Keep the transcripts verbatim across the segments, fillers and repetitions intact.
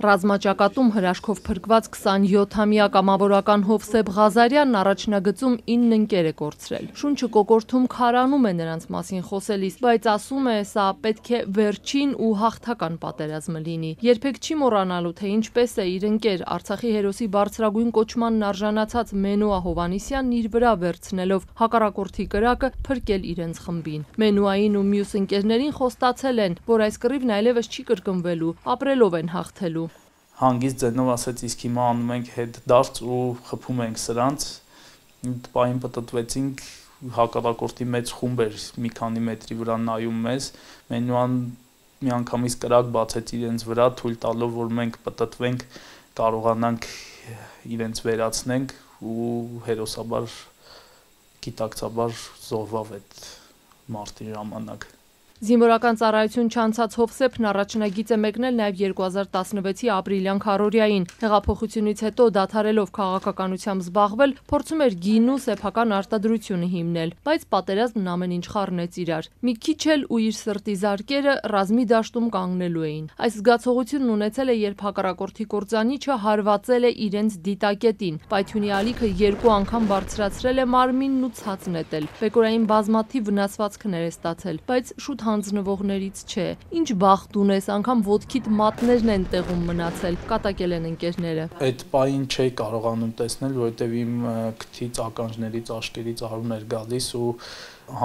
Ռազմաճակատում հրաշքով փրկված քսանյոթամյա կամավորական Հովսեփ Ղազարյանն առաջնագծում ինը ընկեր է կորցրել։ Շունչը կոկորդում քարանում է նրանց մասին խոսելիս, բայց ասում է, սա պետք է վերջին ու հաղթական պատերազմը լինի։ Երբեք չի մոռանալու, թե ինչպես է իր ընկեր Արցախի հերոսի բարձրագույն կոչմանն արժանացած Մենուա Հովհաննիսյանն իր վրա վերցնելով հակառակորդի կրակը փրկել իրենց խմբին։ Մենուային ու մյուս ընկերներին խոստացել են, որ այս կռիվն այլևս չի կրկնվելու, ապրելով են հաղթելու։ Հանգիստ ձենով ասեց, իսկ հիմա անում ենք հետ դարձ ու խփում ենք սրանց։ Պային պտտվեցինք, հակառակորդի մեծ խումբ էր մի քանի մետրի վրա նայում մեզ, Մենուան միանգամից կրակ բացեց իրենց վրա, թույլ տալով, որ մենք պտտվենք, կարողանանք իրենց վերացնենք ու հերոսաբար, գիտակցաբար զոհվավ այդ մարտի ժամանակ։ Զինվորական ծառայություն չանցած Հովսեփն առաջնագիծ է մեկնել նաև երկու հազար տասնվեցի ապրիլյան քարոզիային։ Հեղափոխությունից հետո դադարելով քաղաքականությամբ զբաղվել, փորձում էր գինու սեփական արտադրությունը հիմնել, բայց պատերազմն ամեն ինչ խառնեց իրար։ Մի քիչ էլ ու իր սրտի զարկերը ռազմի դաշտում կանգնելու էին։ Այս զգացողությունն ունեցել է, երբ հակառակորդի կործանիչը հարվածել է իրենց դիտակետին։ Պայթյունի ալիքը երկու անգամ բարձրացրել է մարմինն ու ցած նետել։ Բեկորային բազմաթիվ վնասվածքներ է ստացել, բայց շուտ հանձնվողներից չէ։ Ինչ բախտ ունես, անգամ ոտքիդ մատներն են տեղում մնացել, կատակել են ընկերները։ Այդ պահին չէի կարողանում տեսնել, որովհետև իմ քթից, ականջներից, աշկերից արուն էր գալիս ու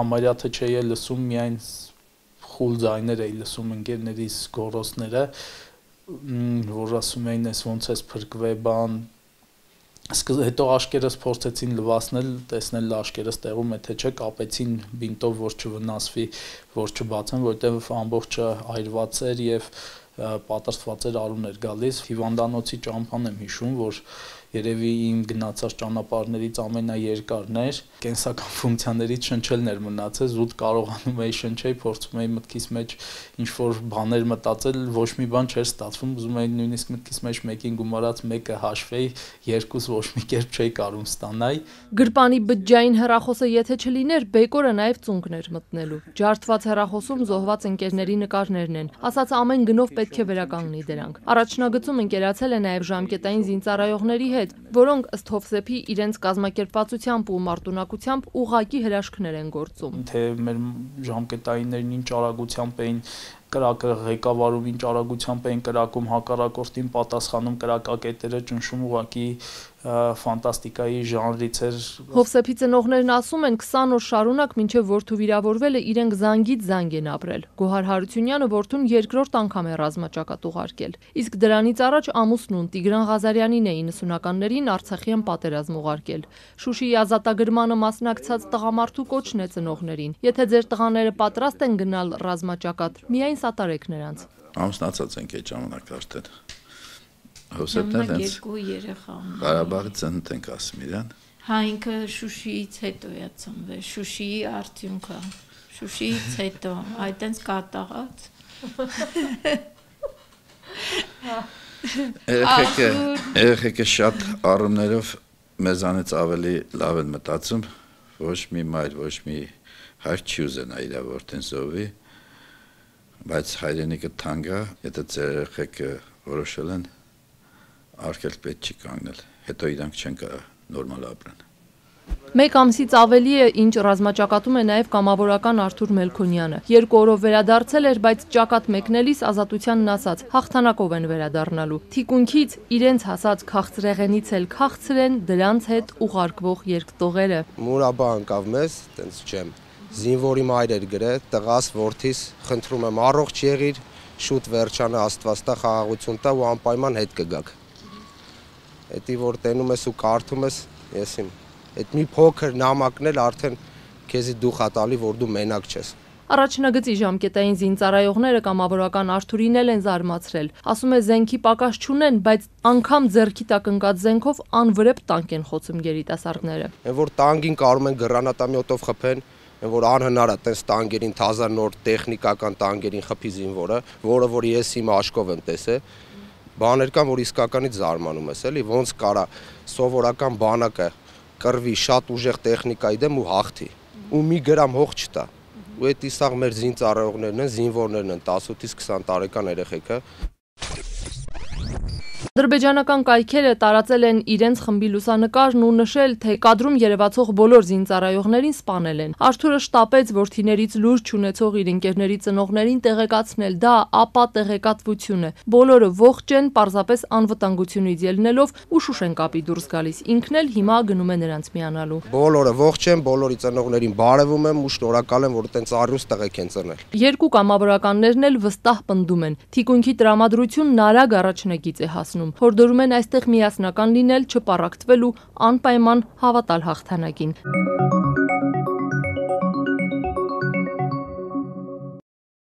համարյա թե չէի լսում, միայն խուլ ձայներ էի լսում ընկերներիս գոռոցները, որ ասում էին, ես ոնց ես փրկվել, բան։ Հետո աշկերս փորձեցին լվացնել, տեսնել աշկերս տեղում է թե չէ, կապեցին բինտով, որ չվնասվի, որ չբացեն, որովհետև ամբողջը այրված էր եւ պատրաստված էր արուն էր գալիս։ Հիվանդանոցի ճամփան եմ հիշում, որ երևի իմ գնացած ճանապարհներից ամենաերկարն էր, կենսական ֆունկցիաներից շնչելն էր մնացել, զուտ կարողանում էի շնչել, փորձում էի մտքիս մեջ ինչ-որ բաներ մտածել, ոչ մի բան չէր ստացվում, ուզում էի նույնիսկ մտքիս մեջ մեկին գումարած մեկը հաշվեի, երկուս ոչ մի կերպ չէի կարող ստանալ։ Գրպանի բջջային հեռախոսը եթե չլիներ, Բեկորը նաև ծունկն էր մտնելու։ Ջարդված հեռախոսում զոհված ընկերների նկարներն են, ասած ամեն գնով պետք է վերականգնի դրանք։ Առաջնագծում ընկերացել է նաև ժամկետային զինծառայողների հետ, որոնք ըստ Հովսեփի իրենց կազմակերպվածությամբ ու մարտունակությամբ ուղղակի հրաշքներ են գործում։ Թե մեր ժամկետայիններն ինչ արագությամբ էին կրակը ղեկավարում, ինչ արագությամբ էին կրակում, հակառակորդին պատասխանում, կրակակետերը ճնշում, ուղղակի ֆանտաստիկայի ժանրից էր։ Հովսեփի ծնողներն ասում են, քսան օր շարունակ մինչև որդու վիրավորվելը իրենք զանգից զանգ են ապրել։ Գոհար Հարությունյանը որդուն երկրորդ անգամ է ռազմաճակատ ուղարկել։ Իսկ դրանից առաջ ամուսնուն Տիգրան Ղազարյանին է իննսունականներին Արցախյան պատերազմ ուղարկել։ Շուշիի ազատագրմանը մասնակցած տղամարդու կոչն է ծնողներին։ Եթե ձեր տղաները պատրաստ են գնալ ռազմաճակատ, միայն սատարեք նրանց։ Ամուսնացած ենք այդ ժամանակ արդեն։ Հովսեփն էլ հենց երկու երեխա ունի։ Ղարաբաղից ծնտ ենք ասում իրան։ Հա ինքը Շուշիից հետո է ծնվել, Շուշիի արդյունքը։ Շուշիից հետո, այդտենց կատաղած։ Երեխեքը, երեխեքը շատ առումներով մեզանից ավելի լավ են մտածում, ոչ մի մայր, ոչ մի հայր չի ուզենա իր որդին զոհվի, բայց հայրենիքը թանկ է, եթե ձեր երեխեքը որոշել են արկել պետք չի կանգնել, հետո իրանք չեն կարող նորմալ ապրեն։ Մեկ ամսից ավելի է, ինչ ռազմաճակատում է նաև կամավորական Արթուր Մելքոնյանը։ Երկու օրով վերադարձել էր, բայց ճակատ մեկնելիս ազատությանն ասաց, հաղթանակով են վերադառնալու։ Թիկունքից իրենց հասած քաղցրեղենից էլ քաղցր են դրանց հետ ուղարկվող երկտողերը։ Մուրաբա անկավ մեզ, տենց չեմ։ Զինվորի մայր էր գրել, տղաս որդիս, խնդրում եմ առողջ եղիր, շուտ վերջանը Աստված տա խաղաղություն տա ու անպայման հետ կգաք։ Էդի որ տենում ես ու կարդում ես, ես իմ այդ մի փոքր նամակն էլ արդեն քեզի դուխ ա տալի, որ դու մենակ չես։ Առաջնագծի ժամկետային զինծառայողները կամավորական Արթուրին էլ են զարմացրել։ Ասում է զենքի պակաս չունեն, բայց անգամ ձեռքի տակ ընկած զենքով անվրեպ տանկ են խոցում երիտասարդները։ Այն որ տանկին կարող են գրանատամյոտով խփեն, այն որ անհնար է տես տանկերին թազա նոր տեխնիկական տանկերին խփի զինվորը, որը որ ես իմ աշկով եմ տեսել, բաներ կան, որ իսկականից զարմանում ես, էլի, ոնց կարա սովորական բանակը կռվի շատ ուժեղ տեխնիկայի դեմ ու հաղթի, ու մի գրամ հող չտա։ Ու այդ իսաղ մեր զինծառայողներն են, զինվորներն են, տասնութից քսան տարեկան երեխեքը։ Ադրբեջանական կայքերը տարածել են իրենց խմբի լուսանկարն ու նշել, թե կադրում երևացող բոլոր զինծառայողներին սպանել են։ Արթուրը շտապեց որդիներից լուրջ չունեցող իր ընկերների ծնողներին տեղեկացնել, դա ապա տեղեկատվություն է։ Բոլորը ողջ են, պարզապես անվտանգությունից ելնելով ու Շուշեն կապի դուրս գալիս։ Ինքն էլ հիմա գնում է նրանց միանալու։ Բոլորը ողջ են, բոլորի ծնողներին բարևում եմ ու շնորհակալ եմ, որ այդպես առյուծ տեղեկ են ծնել։ Երկու կամավորականներն էլ վստահ պնդում են։ Թիկունքի տրամադրությունն արագ առաջնագիծ է հասնում։ Հորդորում են այստեղ միասնական լինել, չպառակտվել ու անպայման հավատալ հաղթանակին։